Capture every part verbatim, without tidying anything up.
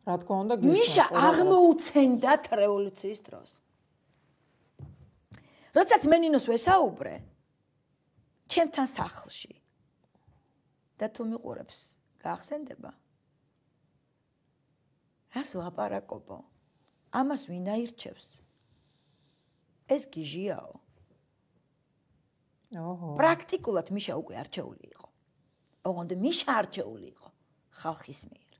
რა თქმა უნდა, მიშა აღმოუცენდათ რევოლუციის დროს. როდესაც მე ნინოს ვესაუბრე, ჩემთან სახლში და თუ მიყურებს, გაახსენდება? რას ვლაპარაკობო? ამას ვინ აირჩევს? ეს გიჟიაო. ოჰო. პრაქტიკულად მიშა უკვე არჩეული იყო. ოღონდ მიშა არჩეული იყო ხალხის მიერ.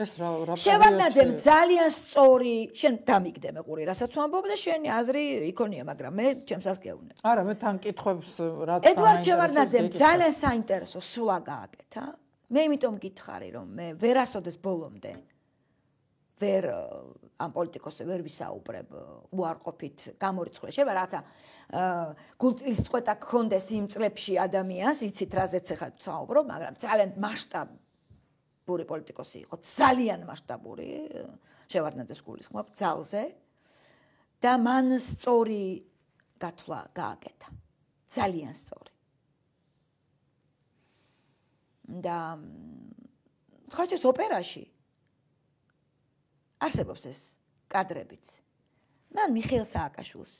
ეს რა რა შევარდნაძემ ძალიან სწორი, შენ დამიგდე მეყური, რასაც ვამბობ და შენი აზრი იქონია, მაგრამ მე ჩემსას გეუნებ. არა, მე თან კითხვებს რაც ედვარდ შევარდნაძემ ძალიან საინტერესო სულა გააკეთა. მე იმიტომ გითხარი, რომ მე ვერასოდეს ბოლომდე ვერ ამ პოლიტიკოსზე ვერ ვისაუბრებ უარყოფით გამორიცხული. შეიძლება რაცა გულწრფის წყვეტა გქონდეს იმ წლებში ადამიანს, იცით რაზეც ახლა ვსაუბრობ, მაგრამ ძალიან მასშტაბური პოლიტიკოსი იყო, ძალიან მასშტაბური, შევარდნაძეს გულისხმობ ძალზე და მან სწორი გათვლა გააკეთა. ძალიან სწორი. და ხოჭის ოპერაში არსებობს ეს კადრებიც. მან მიხეილ სააკაშვილს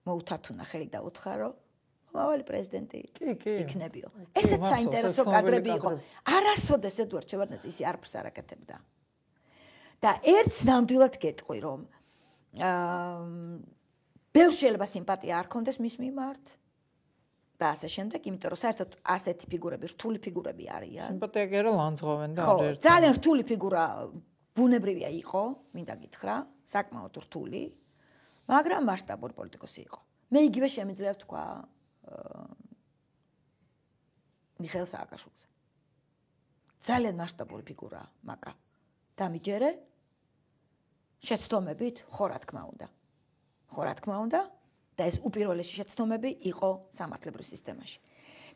მოუთათუნა ხელი და უთხრა, მომავალი პრეზიდენტი იქნებიო. ესეც საინტერესო კადრები იყო. არასოდეს ედვარდ შევარდნაძე ისე არაფერს არ აკეთებდა. და ერთს ნამდვილად გეტყვი, რომ აა ბევრ შეიძლება სიმპათია არ ქონდეს მის მიმართ. და ასე შემდეგ, იმიტომ რომ საერთოდ ასეთი ფიგურები, რთული ფიგურები არიან. სიმპათია კი არა ლანძღავენ და ხო, ძალიან რთული ფიგურა ბუნებრივია იყო, მინდა გითხრა, საკმაოდ რთული, მაგრამ მასშტაბური პოლიტიკოსი იყო. მე იგივე შემიძლია ვთქვა მიხეილ სააკაშვილზე. ძალიან მასშტაბური ფიგურაა, მაკა. დამიჯერე შეცდომებით, ხო რა თქმა უნდა. ხო რა თქმა უნდა. და ეს უპირველესი შეცდომები იყო სამართლებრივ სისტემაში.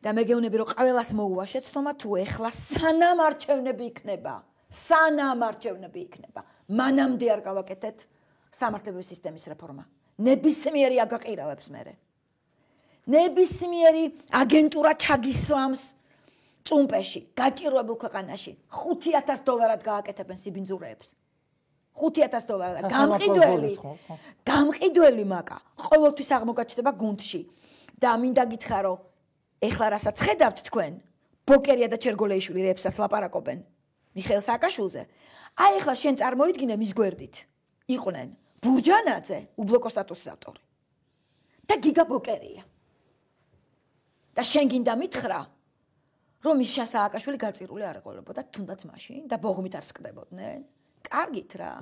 და მე გეუბნები, რომ ყველას მოუვა შეცდომა, თუ ეხლა სანამ არჩევნები იქნება, სანამ არჩევნები იქნება, მანამდე არ გავაკეთეთ სამართლებრივი სისტემის რეფორმა. ნებისმიერი აგაყირავებს მერე. ნებისმიერი აგენტურა ჩაგისვამს წუმპეში, გაჭირვებულ ქვეყანაში, ხუთი ათას დოლარად გააკეთებენ სიბინძურეებს. ხუთი ათას დოლარად გამყიდველი გამყიდველი მაკა ყოველთვის აღმოგაჩნდება გუნდში და მინდა გითხრა რომ ეხლა რასაც ხედავთ თქვენ ბოკერია და ჩერგოლეიშვილი რეებსაც ლაპარაკობენ მიხეილ სააკაშვილზე აი ეხლა შენ წარმოიდგინე მის გვერდით იყვნენ ბურჯანაძე უბლოკო სტატუსის ავტორი და გიგა ბოკერია და შენ გინდა მითხრა რომ მიშა სააკაშვილი გაწირული არ ეყოლებოდა თუნდაც მაშინ და ბოღმით არ სკდებოდნენ კარგით რა